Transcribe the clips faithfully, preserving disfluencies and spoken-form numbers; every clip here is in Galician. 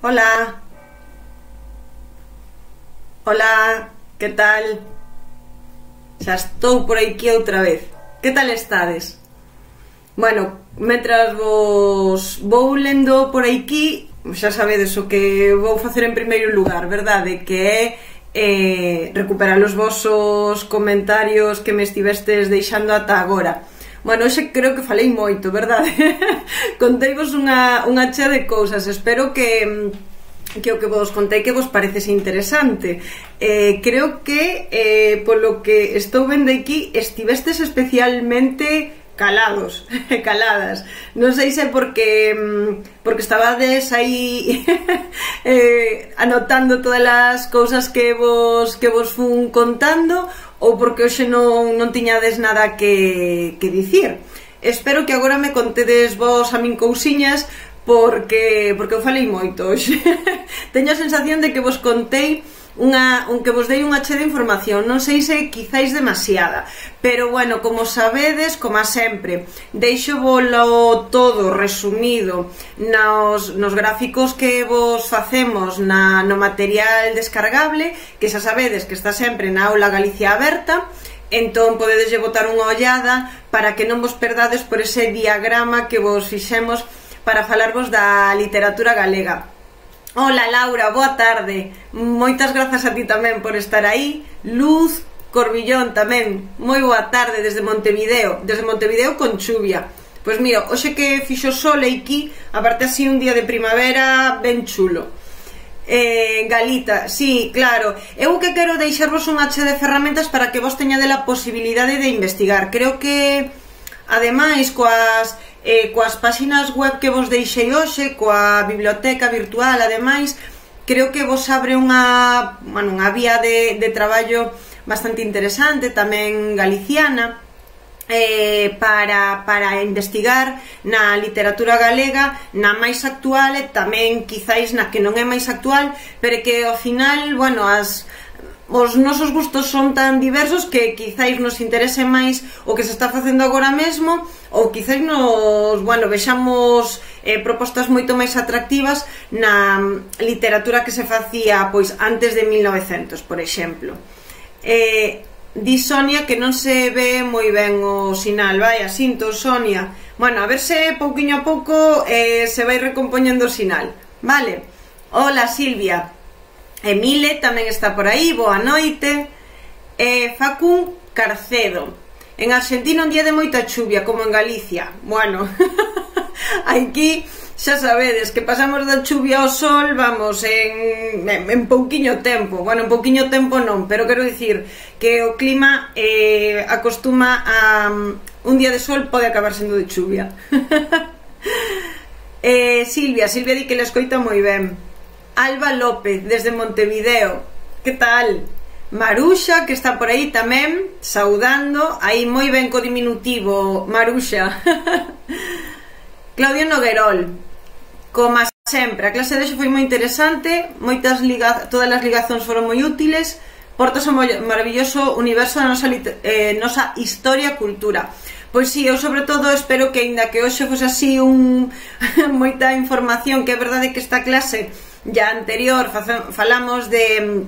Hola. Hola, que tal? Xa estou por aquí outra vez. Que tal estades? Bueno, mentras vos vou lendo por aquí, xa sabedes o que vou facer en primeiro lugar, verdade? Que é eh, recuperar os vosos comentarios que me estivestes deixando ata agora. Bueno, hoxe creo que falei moito, verdade? Conteivos unha, unha chea de cousas. Espero que que o que vos contei que vos parecese interesante. Eh, creo que, eh, polo que estou vendo aquí, estivestes especialmente calados, caladas. Non sei se porque porque estabades aí eh, anotando todas as cousas que vos que vos fun contando ou porque hoxe non, non tiñades nada que, que dicir. Espero que agora me contedes vos a min cousiñas porque porque eu falei moito hoxe. Teño a sensación de que vos contei unha, un que vos dei unha chea de información, non sei se quizáis demasiada, pero bueno, como sabedes, como sempre, deixo volo todo resumido nos, nos gráficos que vos facemos na, no material descargable, que xa sabedes que está sempre na aula Galicia Aberta. Entón podedes botar unha ollada para que non vos perdades por ese diagrama que vos fixemos para falarvos da literatura galega. Hola Laura, boa tarde. Moitas grazas a ti tamén por estar aí. Luz Corbillón tamén, moi boa tarde desde Montevideo. Desde Montevideo con chuvia. Pois mira, hoxe que fixo sol aquí, aparte así un día de primavera ben chulo. eh, Galita, sí, claro. Eu que quero deixarvos unha chea de ferramentas para que vos teñades a posibilidade de investigar. Creo que ademais coas Eh, coas páxinas web que vos deixei hoxe, coa biblioteca virtual, ademais, creo que vos abre unha, bueno, unha vía de, de traballo bastante interesante, tamén galiciana, eh, para, para investigar na literatura galega, na máis actual e tamén quizáis na que non é máis actual, pero que ao final, bueno, as... os nosos gustos son tan diversos que quizáis nos interese máis o que se está facendo agora mesmo, ou quizáis nos, bueno, vexamos eh, propostas moito máis atractivas na literatura que se facía pois antes de mil novecentos, por exemplo. Eh, di Sonia que non se ve moi ben o sinal. Vai, asinto, Sonia. Bueno, a ver se pouquiño a pouco eh, se vai recompoñendo o sinal. Vale. Hola, Silvia. Emile tamén está por aí, boa noite. eh, Facun Carcedo. En Argentina un día de moita chuvia, como en Galicia. Bueno, aquí xa sabedes que pasamos da chuvia ao sol, vamos, en, en, en pouquiño tempo. Bueno, en pouquiño tempo non, pero quero dicir que o clima eh, acostuma a... un día de sol pode acabar sendo de chuvia. eh, Silvia, Silvia di que le escoita moi ben. Alba López, desde Montevideo. Que tal? Maruxa, que está por aí tamén, saudando. Aí moi ben co diminutivo, Maruxa. Claudio Noguerol. Como sempre, a clase de hoxe foi moi interesante. Moitas liga... todas as ligazóns foron moi útiles. Portas ao maravilloso universo da nosa, eh, nosa historia e cultura. Pois si, eu sobre todo espero que, aínda que hoxe fose así un... moita información, que é verdade que esta clase ya anterior falamos de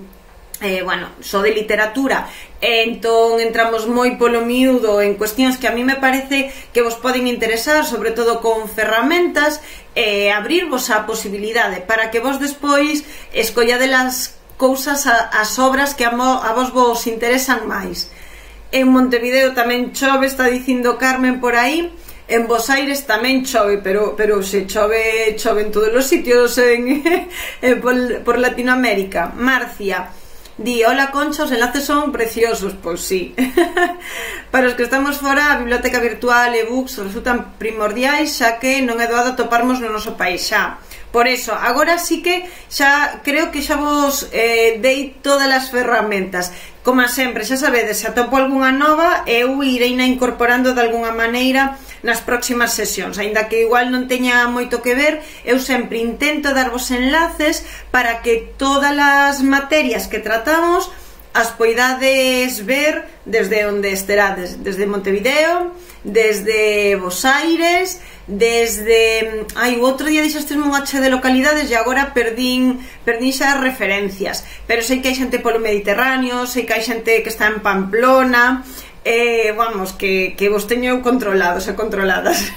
eh, bueno, só de literatura, entón entramos moi polo miúdo en cuestións que a mí me parece que vos poden interesar, sobre todo con ferramentas, e eh, abrirvos a posibilidade para que vos despois escollades as cousas, as obras que a, mo, a vos vos interesan máis. En Montevideo tamén chove, está dicindo Carmen por aí. En Bos Aires tamén chove, pero, pero se chove, chove en todos os sitios en, en, por, por Latinoamérica. Marcia di, hola Concha, os enlaces son preciosos. Pois sí. Para os que estamos fora, a biblioteca virtual e books resultan primordiais, xa que non é doado toparmos no noso país xa. Por eso, agora sí que xa creo que xa vos eh, dei todas as ferramentas. Como sempre, xa sabedes, se atopo algunha nova, eu irei na incorporando de algunha maneira nas próximas sesións, aínda que igual non teña moito que ver, eu sempre intento darvos enlaces para que todas as materias que tratamos as poidades ver desde onde esterades, desde Montevideo, desde Bos Aires, desde... Ai, o outro día dixestesme un H de localidades e agora perdín, perdín xa as referencias, pero sei que hai xente polo Mediterráneo, sei que hai xente que está en Pamplona, eh, vamos, que, que vos teño controlados e controladas.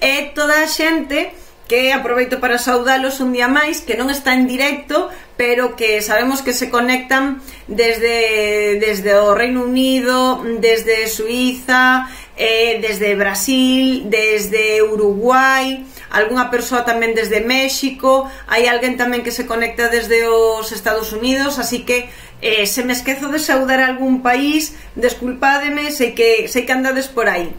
E toda a xente que aproveito para saudalos un día máis, que non está en directo, pero que sabemos que se conectan desde, desde o Reino Unido, desde Suiza, eh, desde Brasil, desde Uruguai, algunha persoa tamén desde México, hai alguén tamén que se conecta desde os Estados Unidos, así que eh, se me esquezo de saudar algún país, desculpádeme, sei que, sei que andades por aí.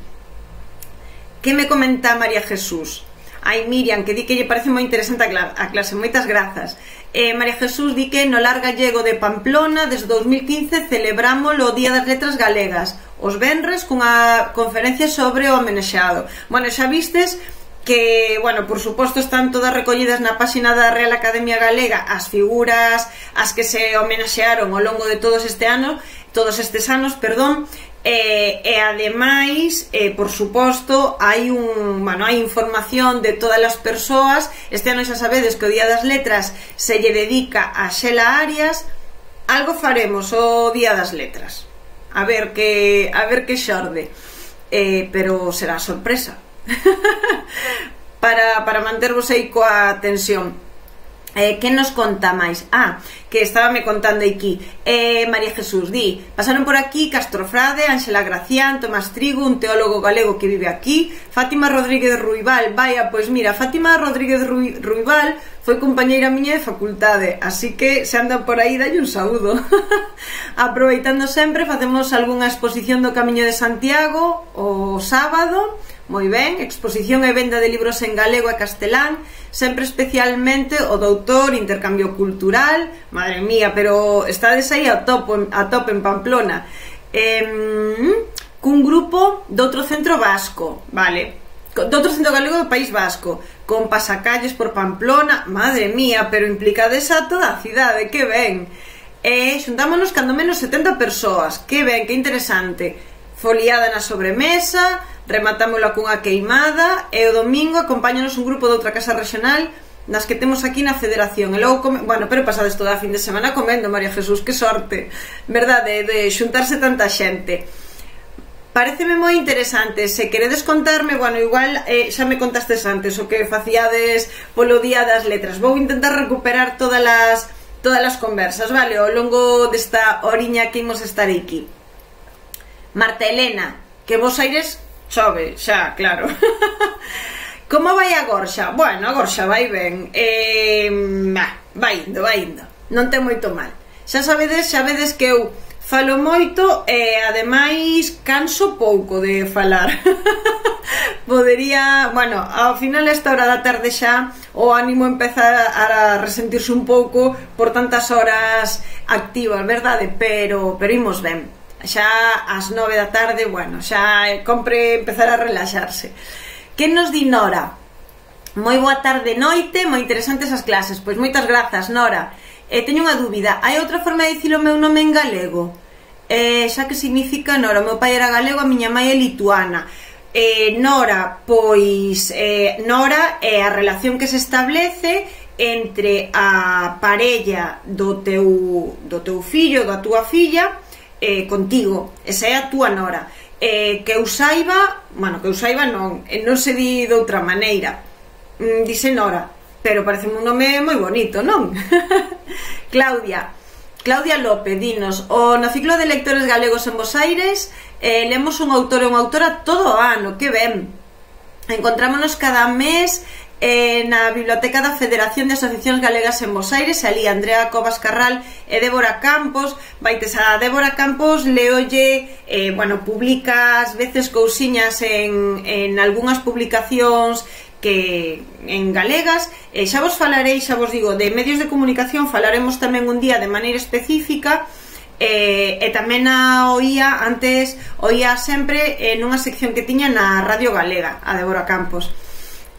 Que me comenta María Jesús? Ai, Miriam, que di que lle parece moi interesante a clase, moitas grazas. eh, María Jesús di que no Lar Gallego de Pamplona desde dos mil quince celebramos o Día das Letras Galegas os venres cunha conferencia sobre o homenaxeado. Bueno, xa vistes que, bueno, por suposto están todas recollidas na páxina da Real Academia Galega as figuras as que se homenaxearon ao longo de todos este ano, todos estes anos, perdón. E, e ademais, eh, por suposto, hai un, bueno, hai información de todas as persoas. Este ano xa sabedes que o Día das Letras se lle dedica a Xela Arias. Algo faremos o Día das Letras, a ver que a ver que xorde, eh, pero será sorpresa. para, para mantervos aí coa tensión. Eh, que nos conta máis? Ah, que estaba me contando aquí. eh, María Jesús di: pasaron por aquí Castro Frade, Ángela Gracián, Tomás Trigo, un teólogo galego que vive aquí, Fátima Rodríguez Ruibal. Vaya, pois mira, Fátima Rodríguez Ruibal foi compañeira miña de facultade, así que se andan por aí, dalle un saúdo. Aproveitando sempre, facemos algunha exposición do Camiño de Santiago o sábado. Moi ben, exposición e venda de libros en galego e castelán, sempre especialmente o doutor, intercambio cultural. Madre mía, pero estades aí a tope, a tope en Pamplona. eh, cun grupo de outro centro vasco, vale, de outro centro galego do País Vasco, con pasacalles por Pamplona. Madre mía, pero implicades a toda a cidade, que ben. E xuntámonos cando menos setenta persoas, que ben, que interesante. Foliada na sobremesa, rematámola cunha queimada, e o domingo acompáñanos un grupo de outra casa regional das que temos aquí na Federación. E logo, come... bueno, pero pasades toda a fin de semana comendo, María Jesús, que sorte, verdade, de xuntarse tanta xente. Pareceme moi interesante. Se queredes contarme, bueno, igual eh, xa me contastes antes o que facíades polo Día das Letras. Vou intentar recuperar todas as, todas as conversas, vale, ao longo desta oriña que imos estar aquí. Marta Elena, que vos aires chove, xa, claro. Como vai a gorxa? Bueno, a gorxa vai ben, eh, vai indo, vai indo, non ten moito mal. Xa sabedes, xa vedes que eu falo moito e ademais canso pouco de falar. Podería, bueno, ao final esta hora da tarde xa o ánimo empezar a resentirse un pouco por tantas horas activas, verdade? Pero, pero imos ben. Xa ás nove da tarde, bueno, xa compre empezar a relaxarse. Que nos di Nora? Moi boa tarde, noite, moi interesantes as clases. Pois moitas grazas, Nora. eh, Teño unha dúbida, hai outra forma de dicir o meu nome en galego? Eh, xa que significa Nora, o meu pai era galego, a miña mãe é lituana. eh, Nora, pois eh, Nora é a relación que se establece entre a parella do teu, do teu fillo, da túa filla, Eh, contigo, esa é a túa nora. eh, Que eu saiba, bueno, que eu saiba non, eh, non se di de outra maneira. mm, Dice Nora, pero parece un nome moi bonito, non? Claudia Claudia López, dinos: o no ciclo de lectores galegos en Bos Aires eh, lemos un autor e unha autora todo o ano, que ben. Encontrámonos cada mes Eh, na Biblioteca da Federación de Asociacións Galegas en Bos Aires. Ali Andrea Cobas Carral e Débora Campos. Vaites a Débora Campos, leolle, eh, bueno, publica ás veces cousiñas en, en algunhas publicacións que en galegas. eh, Xa vos falarei, xa vos digo, de medios de comunicación falaremos tamén un día de maneira específica. Eh, e tamén a oía antes, oía sempre en unha sección que tiña na Radio Galega, a Débora Campos.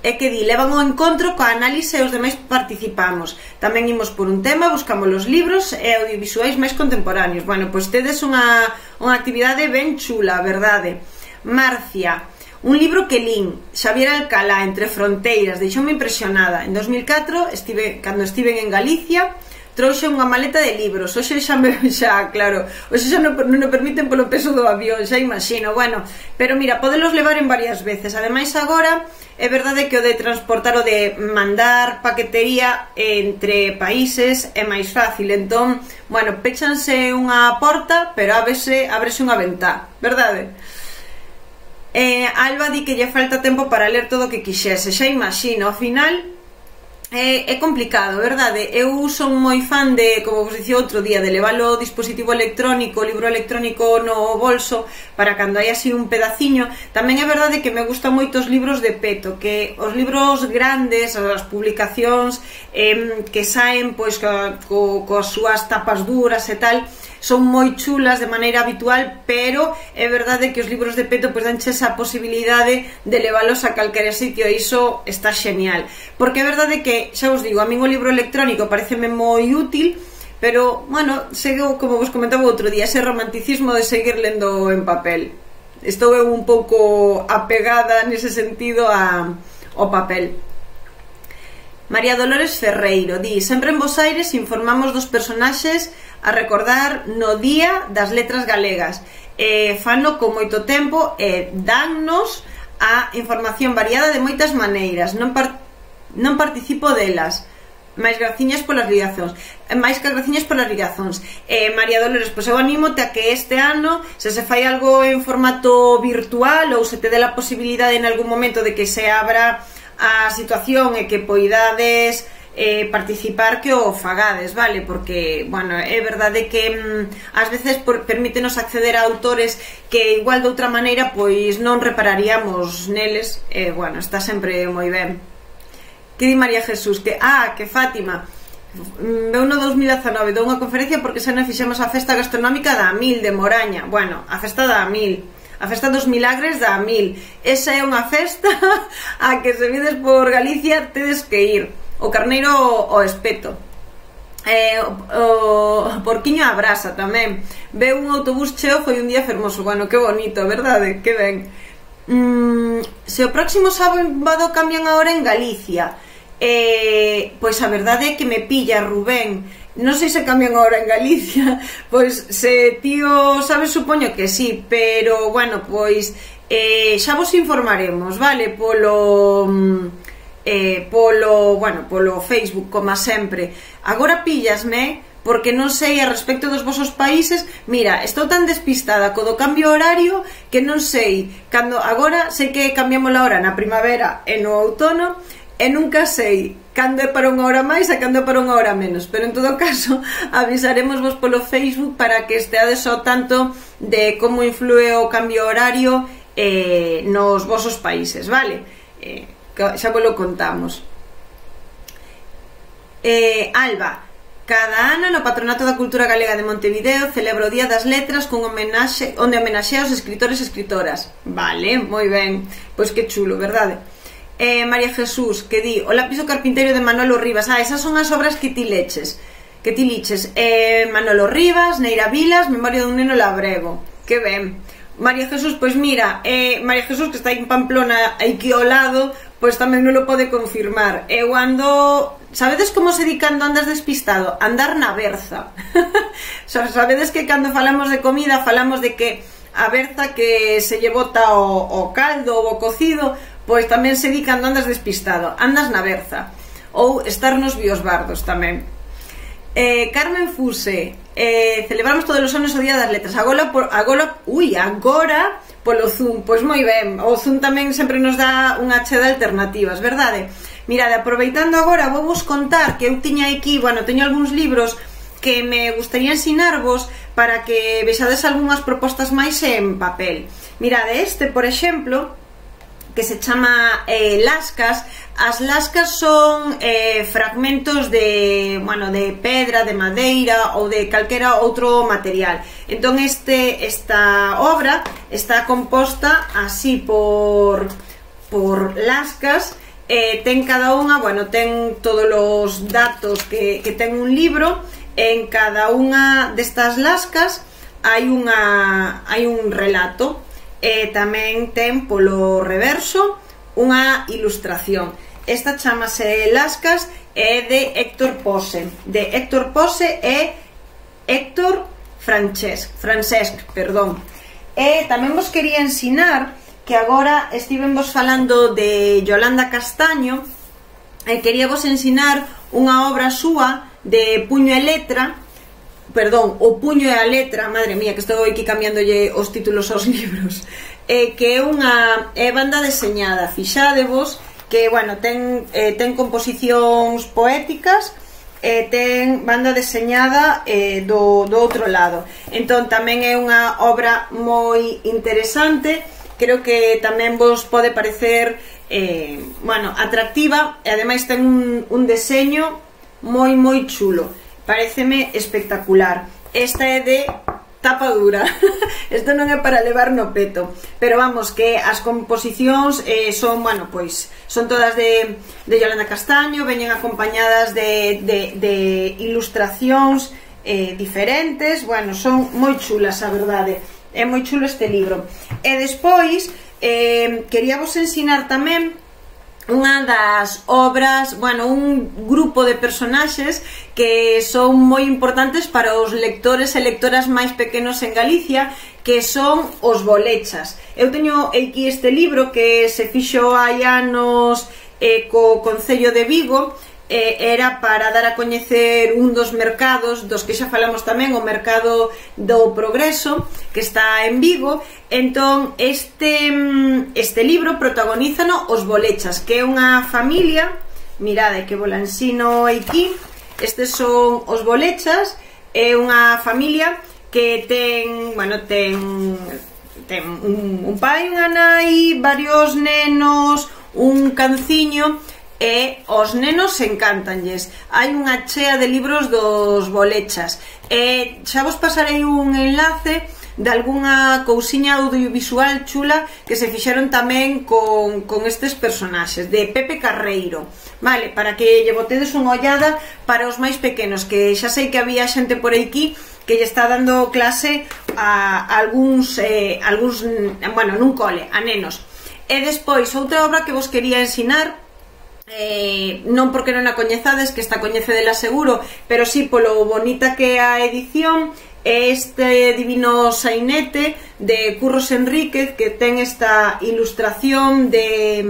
É que di, levan o encontro coa análise e os demais participamos. Tamén imos por un tema, buscamos os libros e audiovisuais máis contemporáneos. Bueno, pois tedes unha, unha actividade ben chula, verdade? Marcia, Un libro que lín, Xavier Alcalá, Entre fronteiras, deixoume impresionada. En dos mil catro, estive, cando estiven en Galicia, trouxe unha maleta de libros. Hoxe xa me, xa, claro, hoxe xa non, non o permiten polo peso do avión, xa imagino. Bueno, pero mira, podelos levar en varias veces. Ademais agora, é verdade que o de transportar, o de mandar paquetería entre países é máis fácil. Entón, bueno, péchanse unha porta, pero ábrese, ábrese unha ventá, verdade? Eh, Alba di que lle falta tempo para ler todo o que quixese. Xa imagino, ao final É, é complicado, verdade? Eu son moi fan de, como vos dicía outro día, de levar o dispositivo electrónico, o libro electrónico no bolso, para cando hai así un pedaciño. Tamén é verdade que me gustan moito os libros de peto, que os libros grandes, as publicacións eh, que saen pois co, co, coas súas tapas duras e tal, son moi chulas de maneira habitual, pero é verdade que os libros de peto pois danche esa posibilidade de leválos a calquera sitio, e iso está genial. Porque é verdade que, xa vos digo, a min o libro electrónico pareceme moi útil, pero, bueno, sigo, como vos comentaba outro día, ese romanticismo de seguir lendo en papel. Estou eu un pouco apegada nese sentido a, ao papel. María Dolores Ferreiro di: sempre en Bos Aires informamos dos personaxes a recordar no Día das Letras Galegas, e fano con moito tempo e dannos a información variada de moitas maneiras. Non, par non participo delas, máis graciñas polas ligazóns, máis que graciñas polas ligazóns. eh, María Dolores, pois eu anímote a que este ano, se se fai algo en formato virtual, ou se te dé a posibilidade en algún momento de que se abra a situación e que poidades eh, participar, que o fagades, vale? Porque, bueno, é verdade que mm, ás veces por, permítenos acceder a autores que igual de outra maneira pois non repararíamos neles, e, eh, bueno, está sempre moi ben. Que di María Jesús? Que, ah, que Fátima veu no dos mil dezanove, dou unha conferencia porque xa non fixemos a festa gastronómica da Mil de Moraña. Bueno, a festa da Mil, a festa dos milagres da Mil, esa é unha festa a que se vides por Galicia tedes que ir. O carneiro ao espeto, eh, o, o porquiño á brasa tamén. Veu un autobús cheo, foi un día fermoso. Bueno, que bonito, verdade? Que ben. mm, Se o próximo sábado cambian a hora en Galicia, eh, pois a verdade é que me pilla, Rubén. Non sei se cambian a hora en Galicia. Pois se tío sabes, supoño que sí, pero bueno, pois eh, xa vos informaremos, vale? Polo eh, polo, bueno, polo Facebook, como sempre. Agora píllasme porque non sei a respecto dos vosos países. Mira, estou tan despistada co do cambio horario que non sei cando. Agora sei que cambiamos a hora na primavera e no outono, e nunca sei cando é para unha hora máis e cando é para unha hora menos, pero en todo caso avisaremos vos polo Facebook para que esteades ao tanto de como influe o cambio horario eh, nos vosos países, vale? Eh, xa vos lo contamos. eh, Alba: cada ano no Patronato da Cultura Galega de Montevideo celebra o Día das Letras cun homenaxe, onde homenaxea os escritores e escritoras. Vale, moi ben, pois que chulo, verdade? Eh, María Jesús, que di: o lápiz do carpinteiro de Manolo Rivas. Ah, esas son as obras que ti leches, que ti liches. eh, Manolo Rivas, Neira Vilas, Memoria dun neno labrego. Que ben. María Jesús, pois mira, eh, María Jesús, que está en Pamplona, aquí ao lado, pois tamén non lo pode confirmar. Eu ando... Sabedes como se di cando andas despistado? Andar na berza. Sabedes que cando falamos de comida falamos de que a berza que se lle bota o, o caldo ou o cocido, pois tamén se di cando andas despistado, andas na berza. Ou estar nos biosbardos tamén. eh, Carmen Fuse: eh, celebramos todos os anos o Día das Letras. Agora, por, agora, ui, agora polo Zoom. Pois moi ben, o Zoom tamén sempre nos dá unha che de alternativas, verdade? Mirade, aproveitando agora, vou vos contar que eu tiña aquí, bueno, teño algúns libros que me gustaría ensinarvos para que vexades algunhas propostas máis en papel. Mirade, este, por exemplo, que se chama eh, lascas. As lascas son eh, fragmentos de, bueno, de pedra, de madeira ou de calquera outro material. Entón este, esta obra está composta así por, por lascas. eh, ten cada unha, bueno, ten todos os datos que, que ten un libro. En cada unha destas lascas hai unha hai un relato. e tamén ten polo reverso unha ilustración. Esta chamase Lascas e é de Héctor Pose, de Héctor Pose e Héctor Francesc, Francesc, perdón. E tamén vos quería ensinar que agora estiven vos falando de Yolanda Castaño e quería vos ensinar unha obra súa de puño e letra, perdón, o puño e a letra, madre mía, que estou aquí cambiándolle os títulos aos libros, eh, que é unha é banda deseñada, fixadevos, que, bueno, ten, eh, ten composicións poéticas, e ten banda deseñada eh, do, do outro lado. Entón tamén é unha obra moi interesante, creo que tamén vos pode parecer eh, bueno, atractiva, e ademais ten un, un deseño moi moi chulo, pareceme espectacular. Esta é de tapa dura. Isto non é para levar no peto, pero vamos, que as composicións eh, son, bueno, pois son todas de, de Yolanda Castaño, veñen acompañadas de, de, de ilustracións eh, diferentes, bueno, son moi chulas, a verdade, é moi chulo este libro. E despois eh, quería vos ensinar tamén unha das obras, bueno, un grupo de personaxes que son moi importantes para os lectores e lectoras máis pequenos en Galicia, que son os bolechas. Eu teño aquí este libro que se fixo hai anos eh, co Concello de Vigo, eh, era para dar a coñecer un dos mercados dos que xa falamos tamén, o mercado do Progreso, que está en Vigo. Entón este, este libro protagonízano os bolechas, que é unha familia, mirade que vos la ensino aquí, estes son os bolechas, é unha familia que ten, bueno, ten, ten un, un pai, unha nai, varios nenos, un canciño, e os nenos encantanlles. Hai unha chea de libros dos bolechas, e xa vos pasarei un enlace de algunha cousiña audiovisual chula que se fixeron tamén con, con estes personaxes, de Pepe Carreiro, vale, para que lle botedes unha ollada para os máis pequenos, que xa sei que había xente por aquí que lle está dando clase a, a algúns, eh, algúns, bueno, nun cole, a nenos. E despois, outra obra que vos quería ensinar, Eh, non porque non a coñezades, que esta coñecedela seguro, pero sí polo bonita que é a edición, é este divino sainete de Curros Enríquez, que ten esta ilustración de,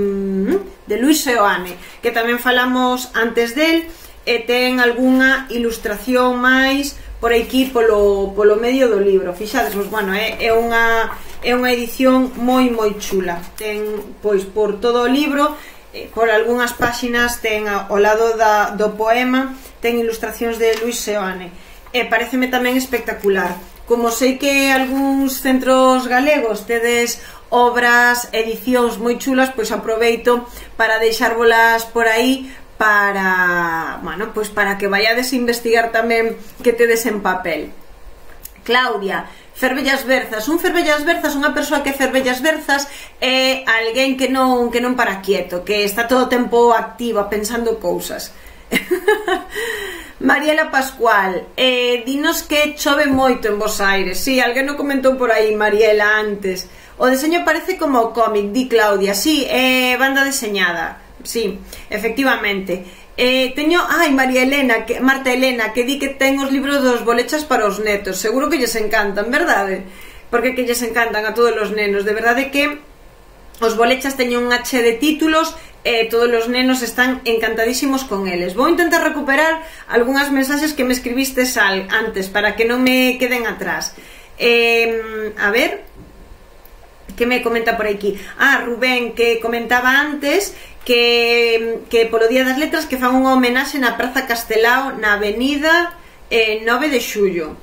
de Luis Seoane, que tamén falamos antes del, e ten algunha ilustración máis por aquí polo, polo medio do libro. Fixades, pues, bueno, é, é unha é unha edición moi moi chula, ten pois por todo o libro, por algunhas páxinas ten ao lado da, do poema, ten ilustracións de Luis Seoane, e pareceme tamén espectacular. Como sei que algúns centros galegos tedes obras, edicións moi chulas, pois aproveito para deixárvolas por aí para, bueno, pois para que vayades a investigar tamén que tedes en papel. Claudia, fervellas berzas. Un fervellas berzas, unha persoa que fervellas berzas é alguén que non, que non para quieto, que está todo o tempo activa, pensando cousas. Mariela Pascual, eh, dinos que chove moito en Bos Aires. Si, sí, alguén o comentou por aí, Mariela, antes. O deseño parece como o cómic, di Claudia. Si, sí, é banda deseñada. Si, sí, efectivamente. Eh, teño, ai, María Elena, que, Marta Elena, que di que ten os libros dos bolechas para os netos. Seguro que lles encantan, verdade? Porque que lles encantan a todos os nenos. De verdade que os bolechas teñen un hache de títulos e eh, todos os nenos están encantadísimos con eles. Vou intentar recuperar algunhas mensaxes que me escribistes al, antes, para que non me queden atrás. Eh, a ver, que me comenta por aquí? Ah, Rubén, que comentaba antes que, que polo Día das Letras que fan unha homenaxe na Praza Castelao, na avenida eh, nove de xullo.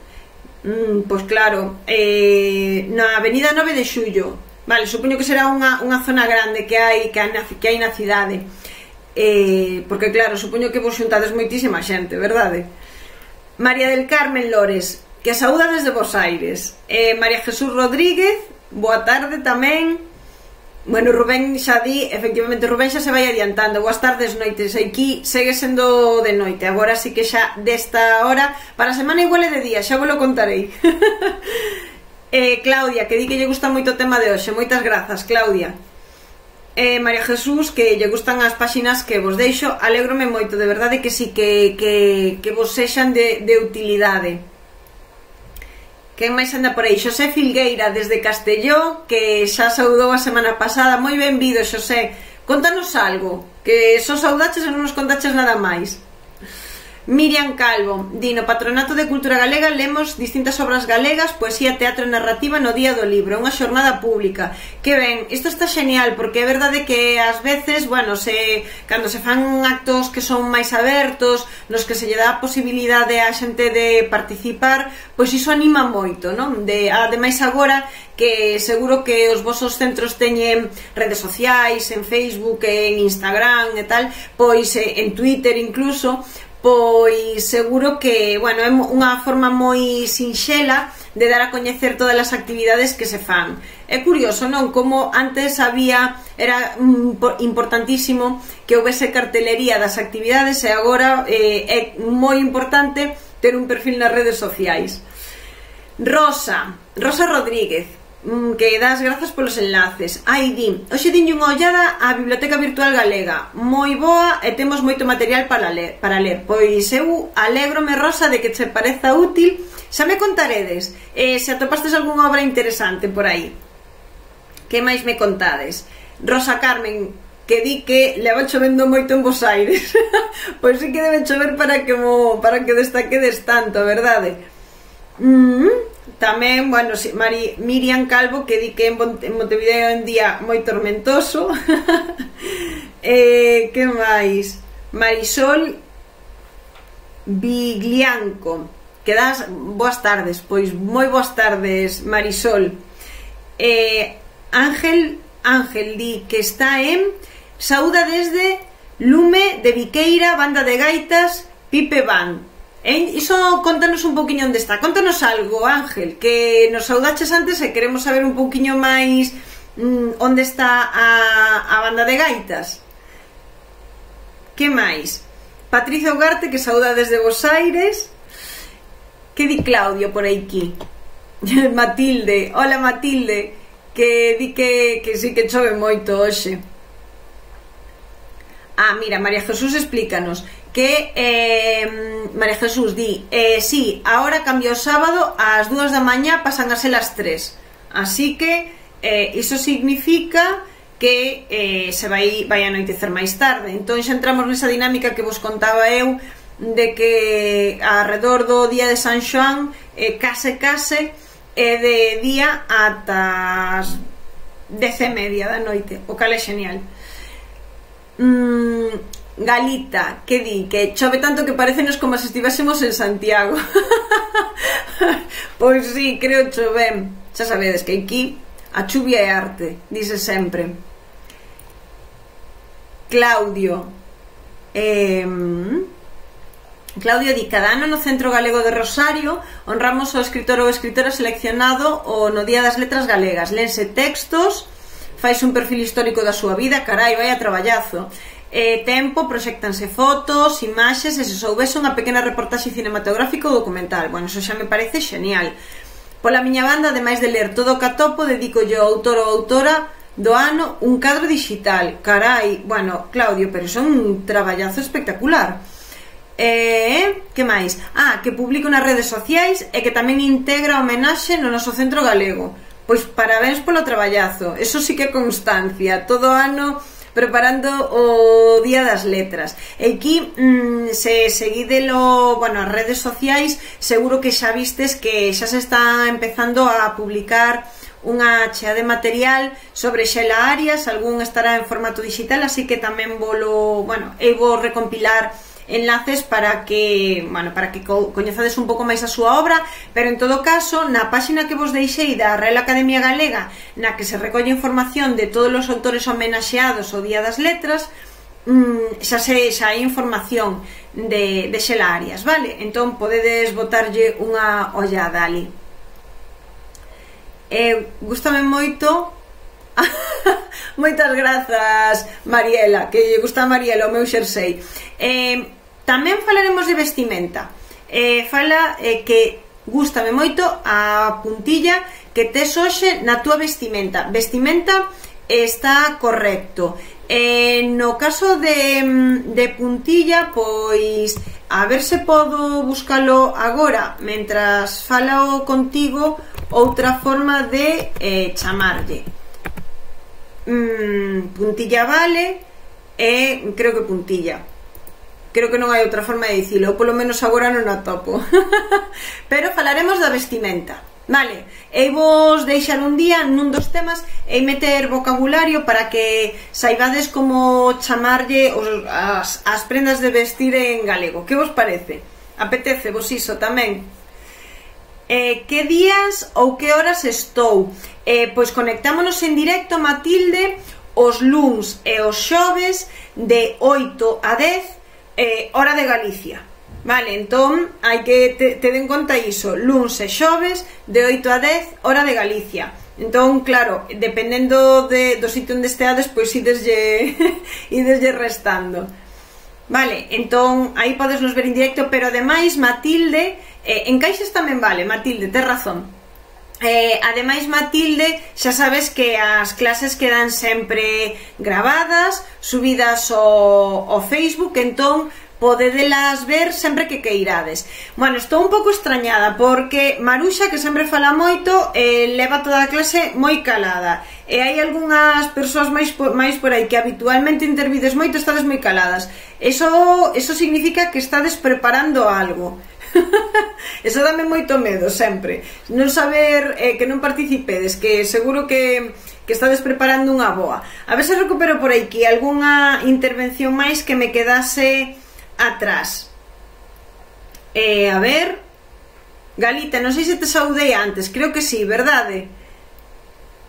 mm, Pois claro, eh, na avenida nove de xullo. Vale, supoño que será unha, unha zona grande que hai, que hai, na, que hai na cidade, eh, porque claro, supoño que vos xuntades moitísima xente, verdade? María del Carmen Lores, que a saúda desde Bos Aires. eh, María Jesús Rodríguez, boa tarde tamén. Bueno, Rubén xa di, efectivamente, Rubén xa se vai adiantando. Boas tardes, noites. Aquí segue sendo de noite. Agora sí que xa desta hora, para a semana igual é de día, xa vos lo contarei. eh, Claudia, que di que lle gusta moito o tema de hoxe. Moitas grazas, Claudia. eh, María Jesús, que lle gustan as páxinas que vos deixo. Alégrome moito, de verdade que sí, que, que, que vos sexan de, de utilidade. Quen máis anda por aí? Xosé Filgueira, desde Castelló, que xa saudou a semana pasada. Moi benvido, Xosé. Contanos algo, que só saudaches e non nos contaches nada máis. Miriam Calvo, di, no Patronato de Cultura Galega lemos distintas obras galegas, poesía, teatro e narrativa no Día do Libro, unha xornada pública. Que ben, isto está genial, porque é verdade que ás veces, bueno, se, cando se fan actos que son máis abertos, nos que se lle dá a posibilidade á xente de participar, pois iso anima moito, non? De, ademais agora, que seguro que os vosos centros teñen redes sociais, en Facebook, en Instagram e tal, pois en Twitter incluso, pois seguro que, bueno, é unha forma moi sinxela de dar a coñecer todas as actividades que se fan. É curioso, non? Como antes había, era importantísimo que houvese cartelería das actividades e agora eh, é moi importante ter un perfil nas redes sociais. Rosa, Rosa Rodríguez, que das grazas polos enlaces. Ai, di, hoxe dinlle unha ollada á Biblioteca Virtual Galega, moi boa e temos moito material para ler, para ler. Pois eu alégrome, Rosa, de que che pareza útil. Xa me contaredes eh, se atopastes algunha obra interesante por aí. Que máis me contades? Rosa Carmen, que di que leva chovendo moito en Bos Aires. Pois sí que debe chover para que, mo, para que destaquedes tanto, verdade? Mm-hmm. Tamén, bueno, Mari, Miriam Calvo, que di que en Montevideo é un día moi tormentoso. eh, que máis? Marisol Viglianco, que das boas tardes. Pois moi boas tardes, Marisol. eh, Ángel Ángel di que está en saúda desde Lume de Viqueira, banda de gaitas Pipe Band. Eh, iso contanos un poquinho onde está. Contanos algo, Ángel, que nos saudaches antes e queremos saber un poquinho máis mmm, onde está a, a banda de gaitas. Que máis? Patricia Ugarte, que sauda desde Bos Aires. Que di Claudio por aquí? Matilde, hola Matilde, que di que, que sí que chove moito hoxe. Ah, mira, María Jesús explícanos que eh, María Jesús di eh, sí, ahora cambia o sábado ás dúas da mañá, pasan a ser as tres, así que eh, iso significa que eh, se vai, vai anoitecer máis tarde. Entón xa entramos nesa dinámica que vos contaba eu de que alrededor do día de San Xoán eh, case case é de día ata as dez e media da noite, o cal é genial. mm, Galita, que di que chove tanto que parecenos como se estivésemos en Santiago. Pois sí, creo chove. Xa sabedes que aquí a chuvia é arte, dice sempre. Claudio eh, Claudio di, cada ano no Centro Galego de Rosario honramos ao escritor ou escritora seleccionado o no Día das Letras Galegas. Lense textos, fais un perfil histórico da súa vida. Carai, vai a traballazo. Eh, tempo, proxectanse fotos, imaxes e se soubese unha pequena reportaxe cinematográfica ou documental. Bueno, eso xa me parece genial. Pola miña banda, ademais de ler todo o catopo, dedico yo ao autor ou autora do ano un cadro digital. Carai, bueno, Claudio, pero son un traballazo espectacular. Eh, que máis? Ah, que publico nas redes sociais e que tamén integra a homenaxe no noso Centro Galego. Pois parabéns polo traballazo. Eso sí que é constancia. Todo ano preparando o Día das Letras. E aquí, mmm, se seguidelo, bueno, as redes sociais, seguro que xa vistes que xa se está empezando a publicar unha chea de material sobre Xela Arias. Algún estará en formato digital, así que tamén volo, bueno, eu vou recompilar enlaces para que, bueno, para que co coñezades un pouco máis a súa obra, pero en todo caso, na páxina que vos deixei da Real Academia Galega, na que se recolle información de todos os autores homenaxeados ao Día das Letras, mmm, xa se xa hai información de, de Xela Arias, vale? Entón podedes botarlle unha ollada ali. Eh, gústame moito. Moitas grazas, Mariela, que lle gusta a Mariela o meu xersei. eh, Tamén falaremos de vestimenta. eh, Fala eh, que gústame moito a puntilla que tes hoxe na túa vestimenta. Vestimenta está correcto. Eh, no caso de, de puntilla, pois a ver se podo buscalo agora mentras falao contigo outra forma de eh, chamarlle. mm, puntilla vale e eh, creo que puntilla, creo que non hai outra forma de dicilo, ou polo menos agora non a topo. Pero falaremos da vestimenta. Vale, e vos deixar un día nun dos temas e meter vocabulario para que saibades como chamarlle os, as, as prendas de vestir en galego. Que vos parece? Apetece vos iso tamén? Eh, que días ou que horas estou? Eh, pois conectámonos en directo, Matilde, os luns e os xoves de oito a dez, eh, hora de Galicia. Vale, entón hai que te, te den conta iso, luns e xoves de oito a dez, hora de Galicia. Entón, claro, dependendo de, do sitio onde esteades, pois ideslle, ideslle restando. Vale, entón aí podes nos ver en directo, pero ademais, Matilde, eh, en Caixas tamén vale, Matilde, tes razón. Eh, ademais, Matilde, xa sabes que as clases quedan sempre grabadas, subidas ao, ao Facebook, entón podedelas ver sempre que queirades. Bueno, estou un pouco extrañada porque Maruxa, que sempre fala moito, eh, leva toda a clase moi calada, e hai algunhas persoas máis por, máis por aí que habitualmente intervides moito, estades moi caladas. Eso, eso significa que estades preparando algo. Eso dame moito medo sempre, non saber eh, que non participedes, que seguro que, que estades preparando unha boa. A ver se recupero por aquí algunha intervención máis que me quedase atrás. Eh, a ver, Galita, non sei se te saudei antes, creo que sí, verdade?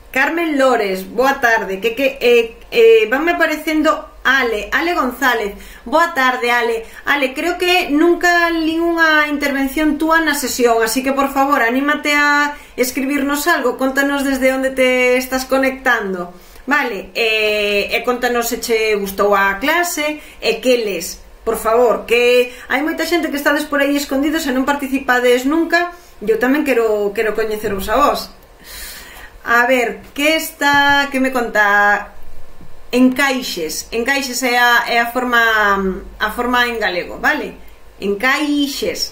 Carmen Lores, boa tarde. Que, que eh, eh, vanme aparecendo Ale, Ale González, boa tarde, Ale. Ale, creo que nunca li unha intervención túa na sesión, así que por favor, anímate a escribirnos algo, contanos desde onde te estás conectando, vale? E, e contanos se che gustou a clase e que les. Por favor, que hai moita xente que estades por aí escondidos e non participades nunca. Eu tamén quero, quero coñeceros a vos. A ver, que está, que me conta? Encaixes, encaixes é a, é a forma a forma en galego, vale? Encaixes.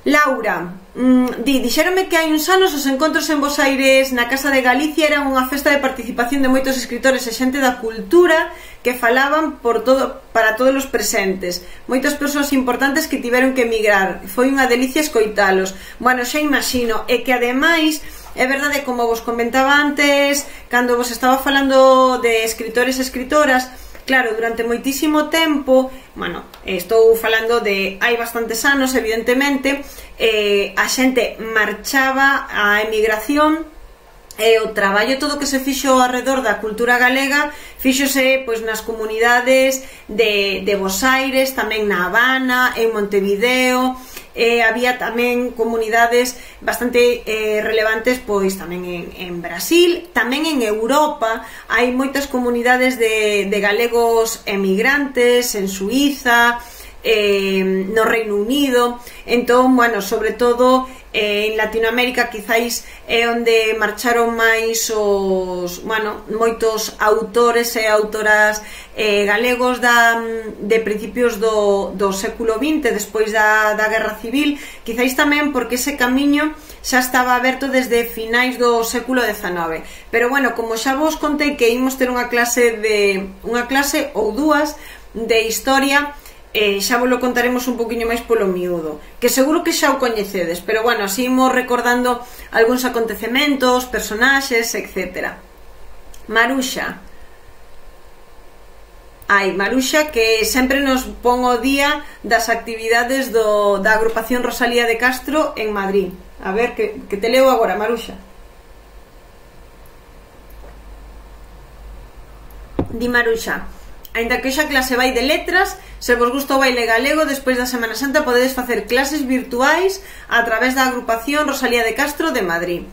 Laura, mmm, di, dixéronme que hai uns anos os encontros en Bos Aires na Casa de Galicia eran unha festa de participación de moitos escritores e xente da cultura que falaban por todo, para todos os presentes. Moitas persoas importantes que tiveron que emigrar. Foi unha delicia escoitalos. Bueno, xa imagino. E que ademais, é verdade, como vos comentaba antes, cando vos estaba falando de escritores e escritoras, claro, durante moitísimo tempo, bueno, estou falando de hai bastantes anos, evidentemente, eh, a xente marchaba á emigración, e o traballo todo que se fixo alrededor da cultura galega fíxose pois nas comunidades de, de Bos Aires, tamén na Habana, en Montevideo. Eh, había tamén comunidades bastante eh, relevantes pois tamén en, en Brasil, tamén en Europa hai moitas comunidades de, de galegos emigrantes en Suiza, eh, no Reino Unido. Entón, bueno, sobre todo eh, en Latinoamérica quizáis é onde marcharon máis os, bueno, moitos autores e autoras eh, galegos da, de principios do, do século vinte, despois da, da Guerra Civil, quizáis tamén porque ese camiño xa estaba aberto desde finais do século dezanove. Pero bueno, como xa vos contei que imos ter unha clase de unha clase ou dúas de historia, Eh, xa vos lo contaremos un poquinho máis polo miúdo, que seguro que xa o coñecedes, pero bueno, así imos recordando algúns acontecementos, personaxes, etcétera. Maruxa, ai, Maruxa, que sempre nos pon o día das actividades do, da agrupación Rosalía de Castro en Madrid. A ver, que, que te leo agora, Maruxa. Di Maruxa: aínda que xa clase vai de letras, se vos gusta o baile galego, despois da Semana Santa podedes facer clases virtuais a través da agrupación Rosalía de Castro de Madrid.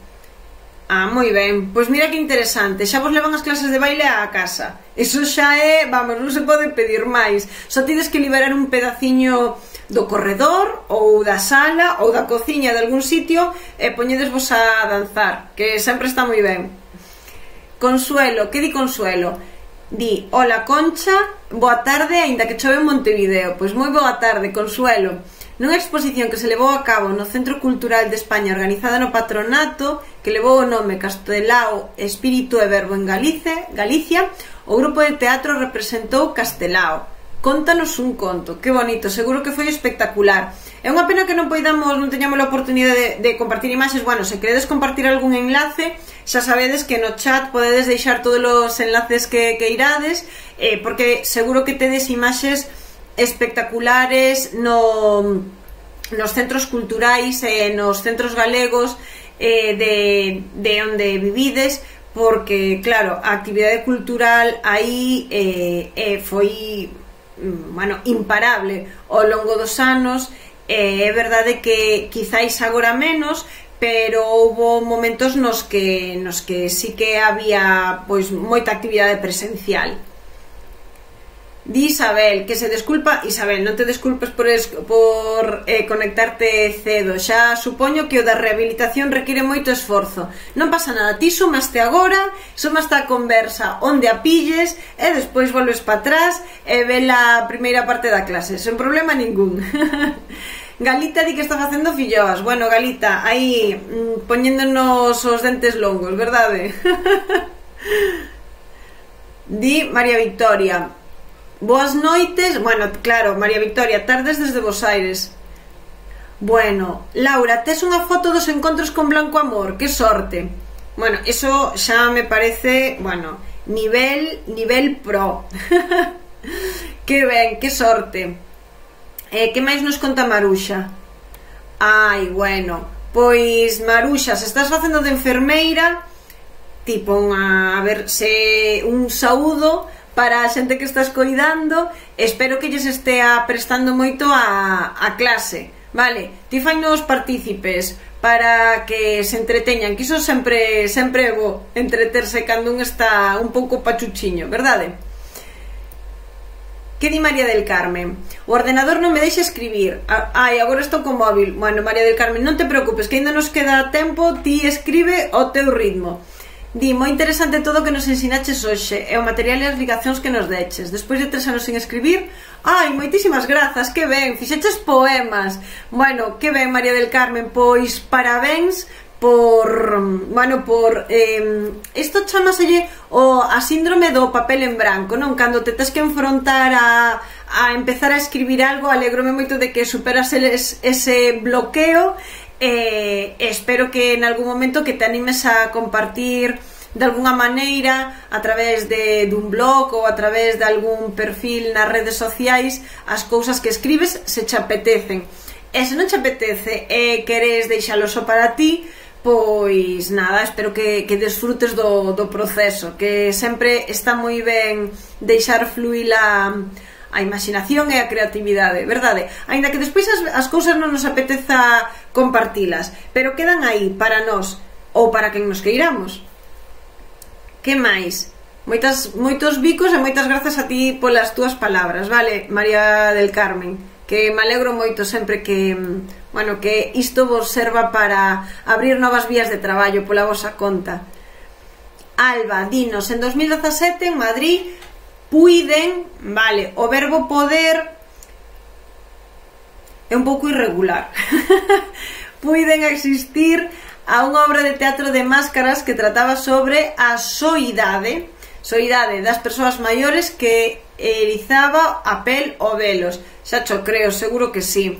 Ah, moi ben, pois mira que interesante, xa vos levan as clases de baile á casa. Eso xa é, vamos, non se pode pedir máis. Só tides que liberar un pedaciño do corredor ou da sala ou da cociña de algún sitio e poñedesvos a danzar, que sempre está moi ben. Consuelo, que di Consuelo? Di, hola Concha, boa tarde, aínda que chove en Montevideo. Pois moi boa tarde, Consuelo. Nunha exposición que se levou a cabo no Centro Cultural de España organizada no Patronato, que levou o nome Castelao, Espírito e Verbo en Galicia, Galicia, o grupo de teatro representou Castelao. Contanos un conto, que bonito, seguro que foi espectacular. É unha pena que non poidamos, non teñamos a oportunidade de, de compartir imaxes. Bueno, se queredes compartir algún enlace, xa sabedes que no chat podedes deixar todos os enlaces que, que irades, eh, porque seguro que tedes imaxes espectaculares no, nos centros culturais e eh, nos centros galegos eh, de, de onde vivides, porque, claro, a actividade cultural aí eh, eh, foi, bueno, imparable ao longo dos anos. Eh, é verdade que quizáis agora menos, pero houve momentos nos que, nos que sí que había pois moita actividade presencial. Di Isabel, que se desculpa. Isabel, non te desculpes por, es, por eh, conectarte cedo. Xa supoño que o da rehabilitación require moito esforzo. Non pasa nada, ti sumaste agora, sumaste a conversa onde a pilles e despois volves para atrás e ve a primeira parte da clase, sen problema ningún. Galita di que está facendo filloas. Bueno, Galita, aí mm, poñéndonos os dentes longos, verdade? Di María Victoria, boas noites. Bueno, claro, María Victoria, tardes desde Bos Aires. Bueno, Laura, tes unha foto dos encontros con Blanco Amor, que sorte. Bueno, eso xa me parece, bueno, nivel, nivel pro. Que ben, que sorte. Eh, que máis nos conta Maruxa? Ai, bueno, pois Maruxa, se estás facendo de enfermeira, tipo unha, a ver, se un saúdo para a xente que estás coidando. Espero que lles estea prestando moito a, a clase, vale? Ti fainos partícipes para que se entreteñan, que iso sempre, sempre é bo, entreterse cando un está un pouco pachuchiño, verdade? Que di María del Carmen? O ordenador non me deixa escribir. Ai, agora estou con móvil. Bueno, María del Carmen, non te preocupes, que ainda nos queda tempo. Ti escribe ao teu ritmo. Di, moi interesante todo o que nos ensinaches hoxe, e o material e as ligacións que nos deches. Despois de tres anos sin escribir, ai, moitísimas grazas, que ben, fixeches poemas. Bueno, que ben, María del Carmen, pois parabéns por, bueno, por eh, isto chamaselle o a síndrome do papel en branco, non? Cando te tes que enfrontar a, a empezar a escribir algo, alegrome moito de que superas ese, ese bloqueo. Eh, espero que en algún momento que te animes a compartir de alguna maneira a través de dun blog ou a través de algún perfil nas redes sociais as cousas que escribes, se che apetecen. E se non te apetece e queres deixalo só para ti, pois nada, espero que, que desfrutes do, do proceso, que sempre está moi ben deixar fluir a a imaginación e a creatividade, verdade? Aínda que despois as, as cousas non nos apeteza compartilas, pero quedan aí para nós ou para quen nos queiramos. Que máis? Moitas, moitos bicos e moitas grazas a ti polas túas palabras, vale, María del Carmen? Que me alegro moito sempre que, bueno, que isto vos serva para abrir novas vías de traballo pola vosa conta. Alba, dinos, en dos mil dezasete en Madrid puiden, vale, o verbo poder é un pouco irregular. Puiden existir a unha obra de teatro de máscaras que trataba sobre a soidade, soidade das persoas maiores que erizaba a pel o velos. Xa cho creo, seguro que sí.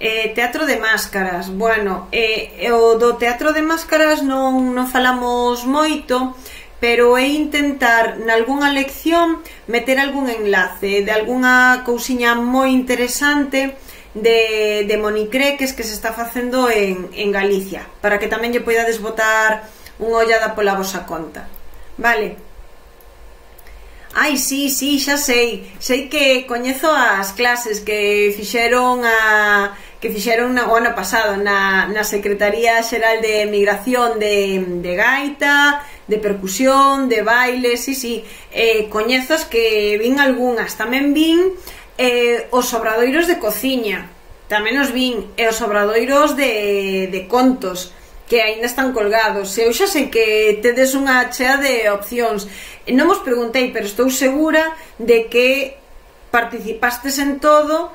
Eh, teatro de máscaras, bueno, eh, o do teatro de máscaras non, non falamos moito, pero é intentar nalgúnha lección meter algún enlace de algunha cousiña moi interesante de, de monicreques que se está facendo en, en Galicia, para que tamén lle poidades botar unha ollada pola vosa conta, vale? Ai, sí, sí, xa sei, sei que coñezo as clases que fixeron a que fixeron na, o ano pasado na, na Secretaría Xeral de Migración de, de gaita, de percusión, de baile, sí, sí, eh, coñezas que vin algunhas, tamén vin eh, os obradoiros de cociña, tamén os vin, e os obradoiros de, de contos que aínda están colgados. Eu xa sei que tedes unha chea de opcións. Non vos preguntei, pero estou segura de que participastes en todo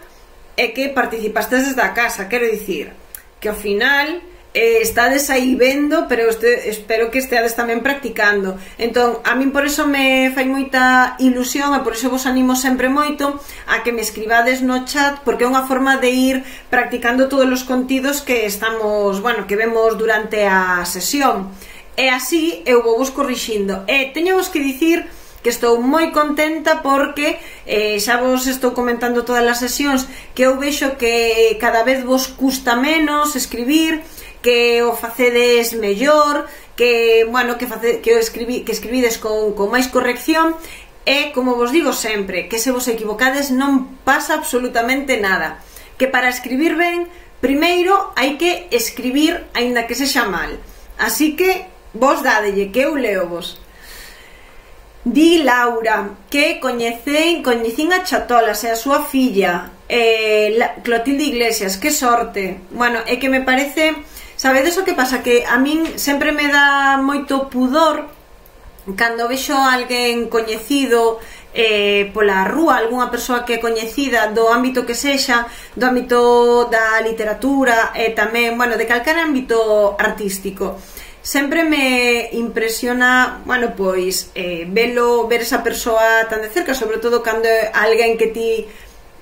e que participastes desde a casa. Quero dicir que ao final eh, estades aí vendo, pero este, espero que esteades tamén practicando. Entón, a min por eso me fai moita ilusión e por eso vos animo sempre moito a que me escribades no chat, porque é unha forma de ir practicando todos os contidos que estamos, bueno, que vemos durante a sesión. E así eu vou vos corrixindo. E teño vos que dicir que estou moi contenta porque eh, xa vos estou comentando todas as sesións que eu vexo que cada vez vos custa menos escribir, que o facedes mellor, que, bueno, que, face, que, o escribi, que escribides con, con máis corrección. E, como vos digo sempre, que se vos equivocades non pasa absolutamente nada, que para escribir ben, primeiro hai que escribir aínda que sexa mal. Así que vos dádelle, que eu leo vos. Di Laura que coñecei, coñecín a Chatolas e a súa filla, eh, Clotilde Iglesias. Que sorte. Bueno, é que me parece... Sabedes o que pasa? Que a min sempre me dá moito pudor cando vexo a alguén coñecido eh, pola rúa, algunha persoa que é coñecida do ámbito que sexa, do ámbito da literatura e tamén, bueno, de calquer ámbito artístico. Sempre me impresiona, bueno, pois eh, velo, ver esa persoa tan de cerca, sobre todo cando é alguén que ti,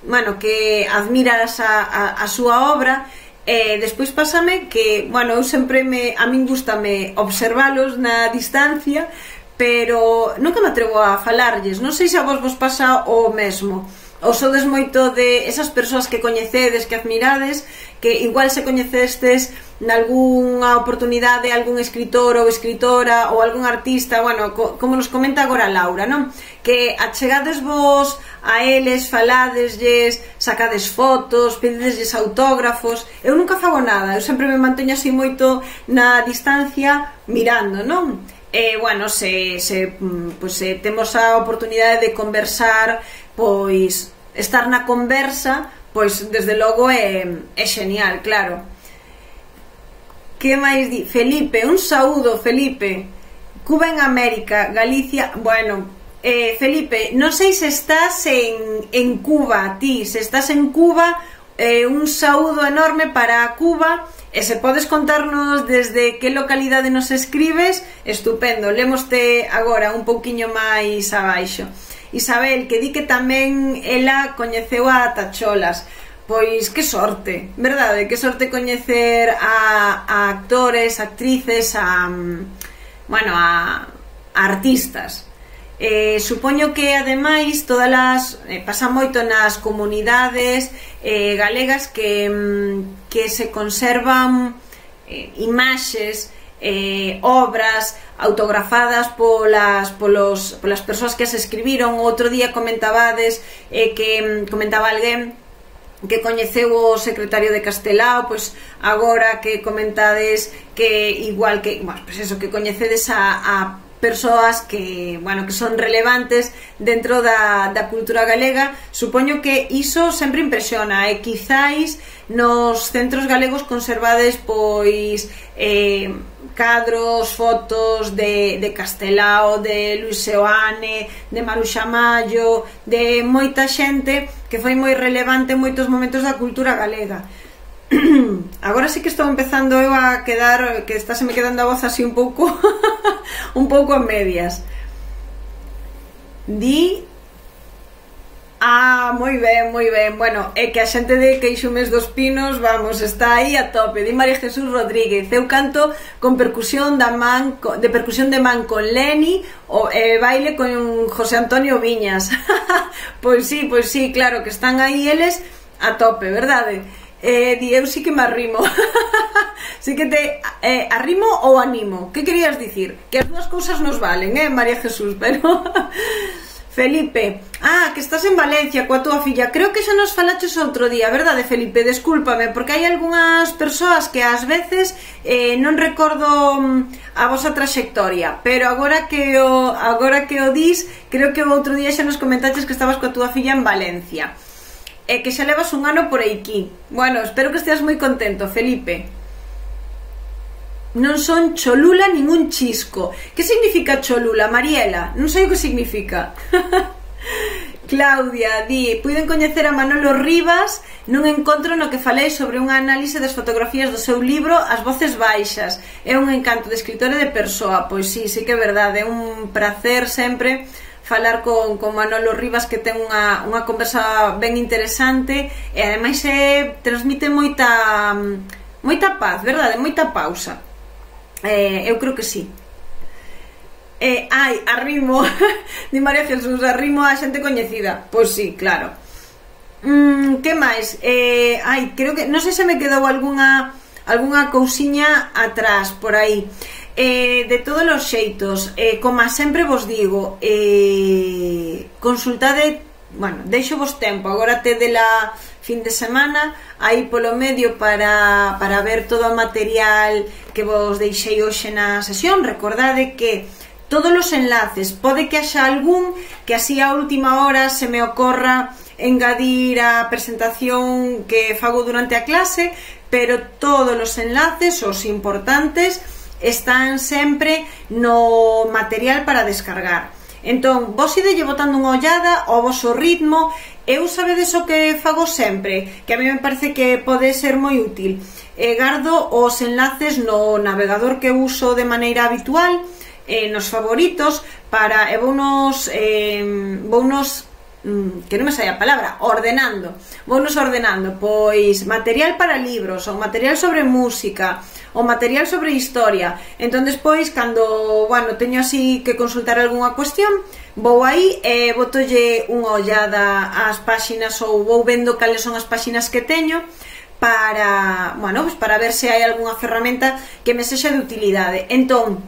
bueno, que admiras a, a, a súa obra. E despois pásame que, bueno, eu sempre me, a min gustame observalos na distancia, pero nunca me atrevo a falarlles. Non sei se a vos vos pasa o mesmo, ou sodes moito de esas persoas que coñecedes, que admirades, que igual se coñecestes nalgúnha oportunidade algún escritor ou escritora ou algún artista, bueno, co, como nos comenta agora Laura, non? Que achegades vos a eles, faladeslles, sacades fotos, pedideslles autógrafos. Eu nunca fago nada, eu sempre me manteño así moito na distancia mirando, non? E, bueno, se, se, pues, se temos a oportunidade de conversar, pois estar na conversa, pois desde logo é, é genial, claro. Que máis di? Felipe, un saúdo, Felipe. Cuba en América, Galicia, bueno, eh, Felipe, non sei se estás en, en Cuba, ti, se estás en Cuba, eh, un saúdo enorme para Cuba. E se podes contarnos desde que localidade nos escribes, estupendo, lemoste agora un pouquiño máis abaixo. Isabel, que di que tamén ela coñeceu a Tacholas. Pois que sorte, verdade? Que sorte coñecer a, a actores, actrices, a, bueno, a, a artistas. Eh, supoño que ademais todas as, eh, pasa moito nas comunidades eh, galegas que, que se conservan eh, imaxes, eh, obras autografadas polas, polos, polas persoas que as escribiron. Outro día comentabades eh, que comentaba alguén que coñeceu o secretario de Castelao, pois agora que comentades que igual que, bueno, pois eso, que coñecedes a, a persoas que, bueno, que son relevantes dentro da, da cultura galega. Supoño que iso sempre impresiona e quizáis nos centros galegos conservades pois eh, cadros, fotos de, de Castelao, de Luis Seoane, de Maruxa Mallo, de moita xente que foi moi relevante en moitos momentos da cultura galega. Agora sí que estou empezando eu a quedar, que está se me quedando a voz así un pouco un pouco a medias. Di... Ah, moi ben, moi ben. Bueno, é que a xente de Queixumes dos Pinos, vamos, está aí a tope. Di María Jesús Rodríguez, eu canto con percusión da man, de percusión de man con Leni, o eh, baile con José Antonio Viñas. Pois sí, pois sí, claro, que están aí eles a tope, verdade? Eh, di, eu sí que me arrimo. Sí que te eh, arrimo ou animo. Que querías dicir? Que as dúas cousas nos valen, eh, María Jesús, pero... Felipe, ah, que estás en Valencia coa túa filla. Creo que xa nos falaches outro día, verdade, Felipe? Descúlpame, porque hai algunhas persoas que ás veces eh, non recordo a vosa traxectoria, pero agora que o, agora que o dis, creo que o outro día xa nos comentaches que estabas coa túa filla en Valencia. e que xa levas un ano por aquí. Bueno, espero que esteas moi contento, Felipe. Non son cholula ningún chisco. Que significa cholula, Mariela? Non sei o que significa. Claudia di: puiden coñecer a Manolo Rivas nun encontro no que falei sobre unha análise das fotografías do seu libro As voces baixas. É un encanto de escritor e de persoa. Pois sí, sí que é verdade, é un placer sempre falar con, con Manolo Rivas, que ten unha, unha conversa ben interesante e ademais é, transmite moita moita paz, verdade? Moita pausa. Eh, eu creo que sí. Eh, ai, arrimo di María Jesús, arrimo a xente coñecida. Pois sí, claro. mm, Que máis? Eh, ai, creo que, non sei se me quedou algunha algunha cousiña atrás por aí. eh, De todos os xeitos, eh, como sempre vos digo, eh, consultade, bueno, deixo vos tempo, agora tedela fin de semana aí polo medio para, para ver todo o material que vos deixei hoxe na sesión. Recordade que todos os enlaces, pode que haxa algún que así a última hora se me ocorra engadir a presentación que fago durante a clase, pero todos os enlaces, os importantes, están sempre no material para descargar. Entón, vos idelle botando unha ollada ao voso ritmo. Eu sabedes o que fago sempre, que a mí me parece que pode ser moi útil. E gardo os enlaces no navegador que uso de maneira habitual, eh, nos favoritos, para, e vou nos, eh, vou nos, que non me sai a palabra, ordenando, vou nos ordenando, pois, material para libros, ou material sobre música, o material sobre historia. Entón despois, cando, bueno, teño así que consultar algunha cuestión, vou aí e botolle unha ollada ás páxinas, ou vou vendo cales son as páxinas que teño para, bueno, pues para ver se hai algunha ferramenta que me sexa de utilidade. Entón,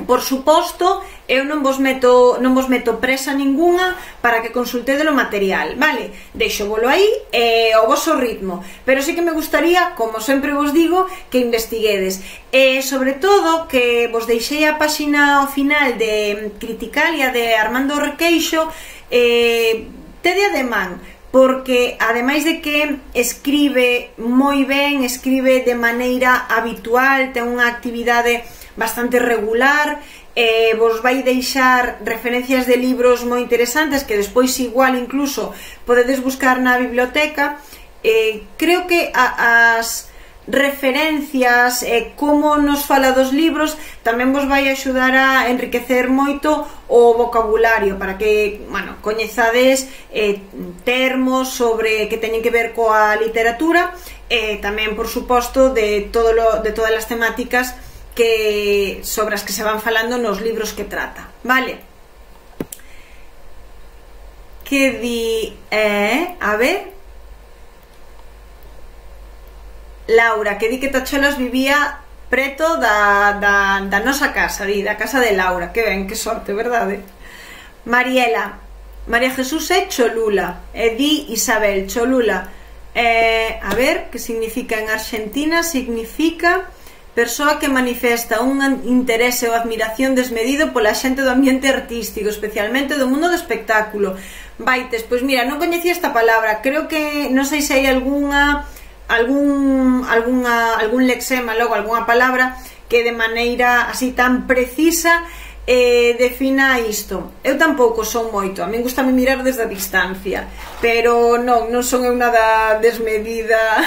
por suposto, eu non vos meto non vos meto presa ninguna para que consultedes o material, vale? Deixo volo aí e ao voso ritmo, pero sí que me gustaría, como sempre vos digo, que investiguedes e sobre todo que vos deixei a páxina ao final de Criticalia de Armando Requeixo, eh, tede ademán, porque ademais de que escribe moi ben, escribe de maneira habitual, ten unha actividade bastante regular, eh, vos vai deixar referencias de libros moi interesantes que despois igual incluso podedes buscar na biblioteca. eh, creo que a, as referencias e eh, como nos fala dos libros tamén vos vai axudar a enriquecer moito o vocabulario para que, bueno, coñezades eh, termos sobre que teñen que ver coa literatura e eh, tamén, por suposto, de, todo lo, de todas as temáticas que sobre as que se van falando nos libros que trata, vale? Que di, eh, a ver, Laura, que di que Tacholas vivía preto da, da, da nosa casa, di, da casa de Laura, que ben, que sorte, verdade? Mariela, María Jesús é Cholula, e di Isabel, Cholula, eh, a ver, que significa en Argentina, significa persoa que manifesta un interese ou admiración desmedido pola xente do ambiente artístico, especialmente do mundo do espectáculo. Vaites, pois mira, non coñecía esta palabra, creo que, non sei se hai algunha algún, algunha, algún lexema, logo algunha palabra que de maneira así tan precisa eh, defina isto. Eu tampouco son moito, a min gustame mirar desde a distancia, pero non, non son eu nada desmedida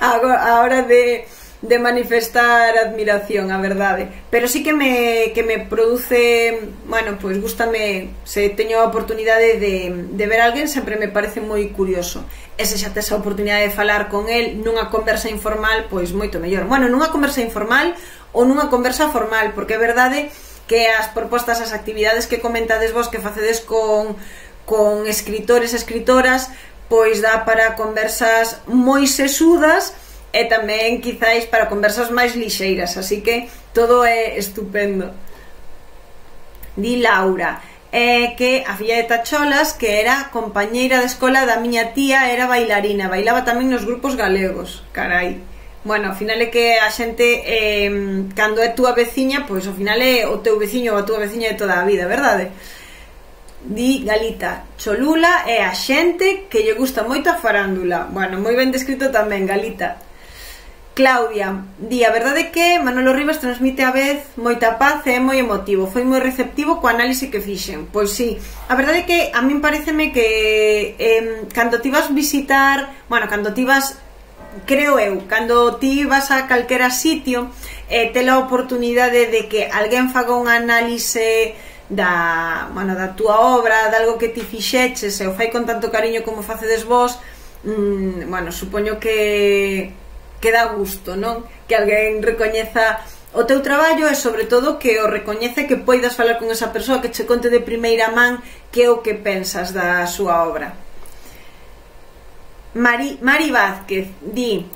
a hora de de manifestar admiración, a verdade, pero sí que me, que me produce, bueno, pois gústame, se teño a oportunidade de, de ver a alguén, sempre me parece moi curioso, e se xa tes a oportunidade de falar con el nunha conversa informal, pois moito mellor. Bueno, nunha conversa informal ou nunha conversa formal, porque é verdade que as propostas, as actividades que comentades vos que facedes con, con escritores e escritoras, pois dá para conversas moi sesudas e tamén quizáis para conversas máis lixeiras, así que todo é estupendo. Di Laura eh, que a filla de Tacholas, que era compañeira de escola da miña tía, era bailarina, bailaba tamén nos grupos galegos. Carai, bueno, ao final é que a xente eh, cando é túa veciña, pois ao final é o teu veciño ou a túa veciña de toda a vida, verdade? di Galita, Cholula é a xente que lle gusta moito a farándula. Bueno, moi ben descrito tamén, Galita. Claudia, di, a verdade que Manolo Rivas transmite a vez moita paz e é moi emotivo, foi moi receptivo co análise que fixen. Pois sí, a verdade que a min pareceme que eh, cando ti vas visitar, bueno, cando ti vas, creo eu, cando ti vas a calquera sitio, eh, te la oportunidade de que alguén faga un análise da, bueno, da túa obra, de algo que ti fixeches e o fai con tanto cariño como facedes vos, mmm, bueno, supoño que que dá gusto, non? Que alguén recoñeza o teu traballo e sobre todo que o recoñece, que poidas falar con esa persoa, que che conte de primeira man que é o que pensas da súa obra. Mari, Mari Vázquez di,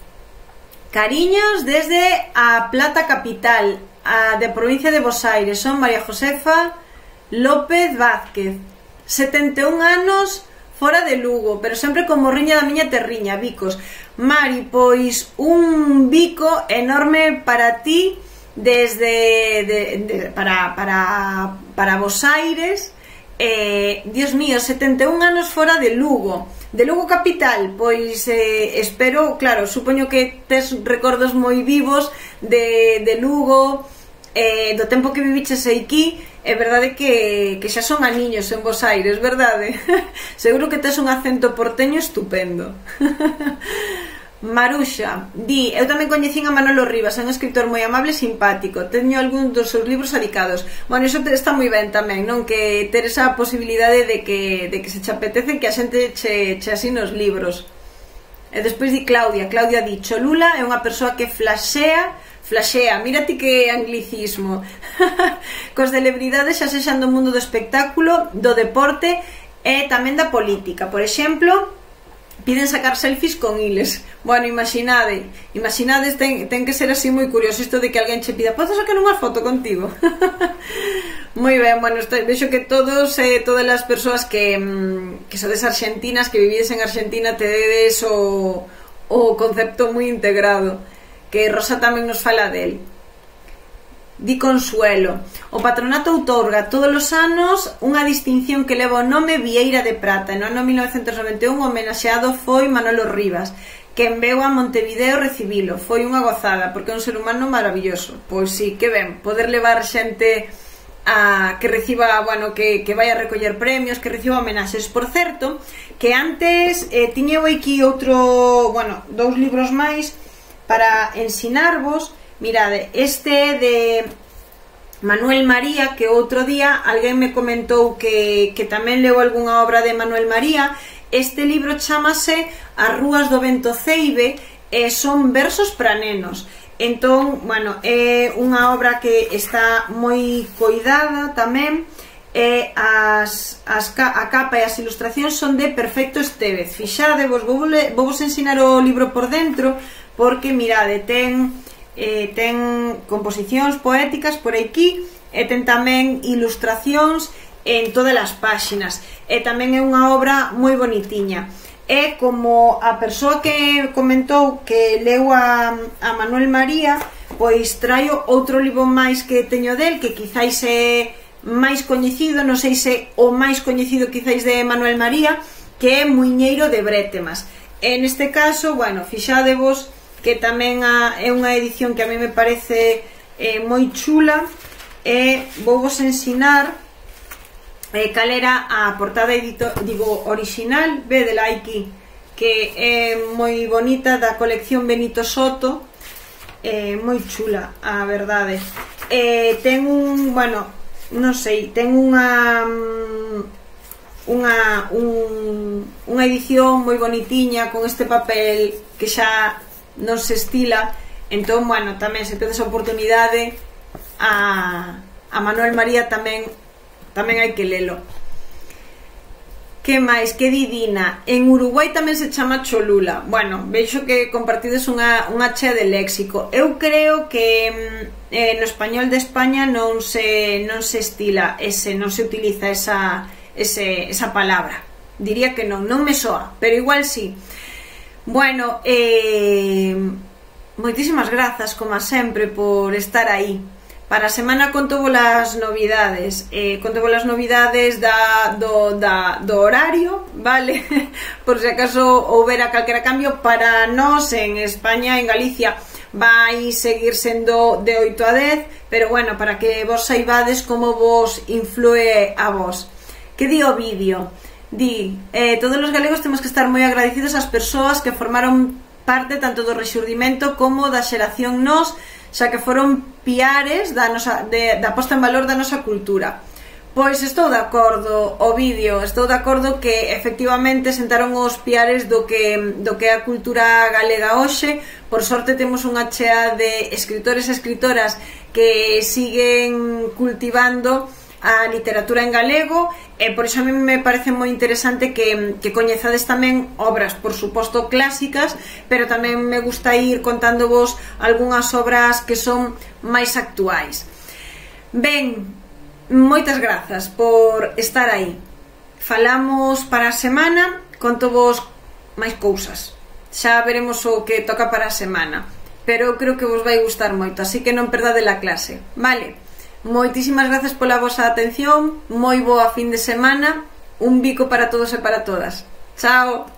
cariños desde a Plata capital, a de provincia de Bos Aires, son María Josefa López Vázquez, setenta e un anos, fora de Lugo, pero sempre con morriña da miña terriña, bicos. Mari, pois un bico enorme para ti desde de, de, para, para, para Bos Aires. eh, Dios mío, setenta e un anos fora de Lugo, de Lugo capital. Pois eh, espero, claro, supoño que tes recordos moi vivos de, de Lugo, eh, do tempo que viviches aquí. É verdade que, que xa son aniños en Bos Aires, verdade? Seguro que tes un acento porteño estupendo. Maruxa di, eu tamén coñecín a Manolo Rivas, é un escritor moi amable e simpático, teño algún dos seus libros adicados. Bueno, iso está moi ben tamén, non? Que ter esa posibilidade de que, de que se che apetece que a xente che, che asine os libros. E despois di Claudia, Claudia di, Cholula é unha persoa que flaxea Flaxea, mira ti que anglicismo. Cos celebridades xa sexan do mundo do espectáculo, do deporte e tamén da política. Por exemplo, piden sacar selfies con iles. Bueno, imaginade, imaginades, ten, ten que ser así moi curioso isto de que alguén che pida, podes sacar unha foto contigo? Moi ben, bueno, estoy, vexo que todos, eh, todas as persoas que, que sodes argentinas, que vivides en Argentina, tedes o, o concepto moi integrado, que Rosa tamén nos fala del. Di Consuelo, o patronato outorga todos os anos unha distinción que leva o nome Vieira de Prata. No ano mil novecentos noventa e un o homenaxeado foi Manolo Rivas, que enveu a Montevideo recibilo. Foi unha gozada, porque é un ser humano maravilloso. Pois sí, que ben, poder levar xente a que reciba, bueno, que, que vai a recoller premios, que reciba homenaxes. Por certo, que antes eh, tiñeu aquí outro, bueno, dous libros máis para ensinarvos. Mirade, este de Manuel María, que outro día alguén me comentou que, que tamén leu algunha obra de Manuel María. Este libro chamase As rúas do vento ceibe e son versos para nenos. Entón, bueno, é unha obra que está moi coidada tamén, e as, as, a capa e as ilustracións son de Perfecto Estévez. Fixade, vos vou, vou vos ensinar o libro por dentro, porque mirade, ten, eh, ten composicións poéticas por aquí e ten tamén ilustracións en todas as páxinas, e tamén é unha obra moi bonitiña. É como a persoa que comentou que leu a, a Manuel María, pois traio outro libro máis que teño del, que quizáis é máis coñecido, non sei se o máis coñecido quizáis de Manuel María, que é Muiñeiro de Brétemas. En este caso, bueno, fixadevos que tamén a, é unha edición que a mí me parece eh, moi chula, e vou vos ensinar eh, cal era a portada edito, digo, original, vedela aquí, que é moi bonita, da colección Benito Soto, eh, moi chula, a verdade. Eh, ten un, bueno, non sei, ten unha unha un, unha edición moi bonitiña con este papel que xa non se estila. Entón, bueno, tamén se tedes a oportunidade a, a Manuel María tamén tamén hai que lelo. Que máis? Que Didina, en Uruguai tamén se chama Cholula. Bueno, veixo que compartides unha, unha chea de léxico. Eu creo que eh, no español de España non se, non se estila ese, non se utiliza esa, ese, esa palabra. Diría que non, non me soa, pero igual sí. Bueno, eh, moitísimas grazas, como sempre, por estar aí, Para a semana conto as novidades, eh, conto as novidades da, do, da, do horario, vale? Por se acaso houbera calquera cambio. Para nós en España, en Galicia, vai seguir sendo de oito a dez, pero bueno, para que vos saibades como vos influe a vos. Que di o vídeo? Di, eh, todos os galegos temos que estar moi agradecidos ás persoas que formaron parte tanto do rexurdimento como da xeración nós, xa que foron piares da, nosa, de, da posta en valor da nosa cultura. Pois estou de acordo, o vídeo, estou de acordo que efectivamente sentaron os piares do que, do que é a cultura galega hoxe. Por sorte temos unha chea de escritores e escritoras que siguen cultivando a literatura en galego, e por iso a mí me parece moi interesante que, que coñezades tamén obras, por suposto, clásicas, pero tamén me gusta ir contándovos algunhas obras que son máis actuais. Ben, moitas grazas por estar aí. Falamos para a semana, contovos máis cousas. Xa veremos o que toca para a semana, pero eu creo que vos vai gustar moito, así que non perdade a clase, vale? Moitísimas grazas pola vosa atención, moi boa fin de semana, un bico para todos e para todas. Chao!